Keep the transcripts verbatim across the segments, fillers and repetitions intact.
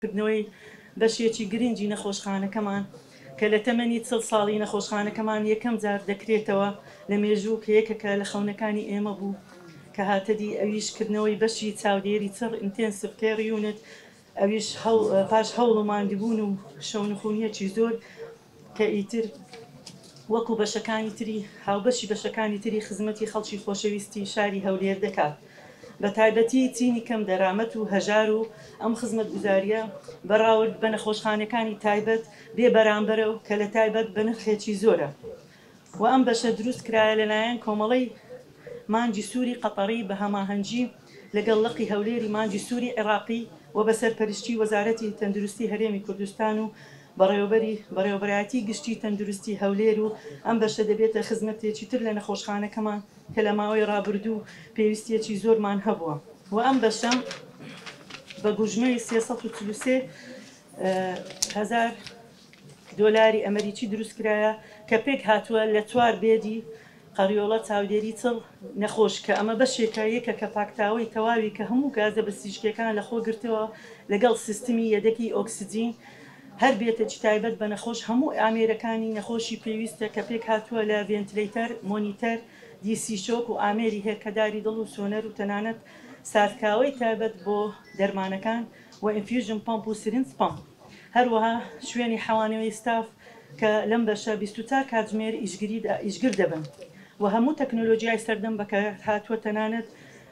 کردنەوەی بەشێکی گرنگی نەخۆشخانەکەمان کە لە تەمەنی چڵ ساڵی نەخۆشخانەکەمان یەکەم جار دەکرێتەوە لە مێژوو کە یەکێکە لە خەونەکانی ئێمە بوو کە هاتەدی، ئەویش کردنەوەی بەشی چاودێری چڕ intensive care unit، ئەویش پاش هەوڵ و ماندووبوون و شەونخونیەکی زۆر کە ئیتر وەکو بەشەکانی تری هاوبەشی بەشەکانی تری خزمەتی خەڵکی خۆشەویستی شاری هەولێر دەکات، بە تایبەتی چینی کەم دەرامەت و هەژار و ئەم خزمەتگوزاریە بەراورد بە نەخۆشخانەکانی تایبەت بێ بەرامبەرە و کە لە تایبەت بە نرخێکی زۆرە. و ئەم بەشە دروست کرایە لەلایەن کۆمەڵەی مانگی سووری قەتەڕی بە هەماهەنگی لەگەڵ لقی هەولێری مانگی سووری عێراقی و بە سەرپەرشتی وەزارەتی تەندروستی هەرێمی کوردستان و بەڕێوەبەری بەڕێوەبەرایەتی گشتی تەندروستی هەولێر و ئەم بەشە دەبێتە خزمەتێکی تر لە نەخۆشخانەکەمان کە لە ماوەی ڕابردوو پێویستیەکی زۆرمان هەبووە. و ئەم بەشە بە گوژمەی سێ سەد و چل و سێ هەزار دۆلاری ئەمریکی دروست کرایە کە پێک هاتووە لە چوار bed ی قەریۆڵە چاودێری چڵ نەخۆش کە ئەمە بەشێکە یەکە کە پاکتاوەی تەواوی کە هەموو گازە بەسیشکەکان لەخۆ گرتەوە لەگەڵ سیستمی یەدەکی ئۆکسجین هەر بێتێکی تایبەت بە نەخۆش هەموو ئامێرەکانی نەخۆشی پێویستە کە پێک هاتووە لە ventilator، monitor، DC shock و ئامێری هێلکەداری دڵ و سۆنەر و تەنانەت ساردکاوەی تایبەت بۆ دەرمانەکان و infusion pump و syringe pump. هەروەها شوێنی حەوانەوەی ستاف کە لەم بەشە بیست و چوار کاتژمێر ئیشگر دەبن و هەموو تەکنۆلۆژیای سەردەم بەکارهاتووە، تەنانەت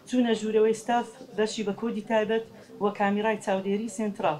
چوونە ژوورەوەی ستاف بەشی بە کۆدی تایبەت و کامیرای چاودێری سێنتراڵ.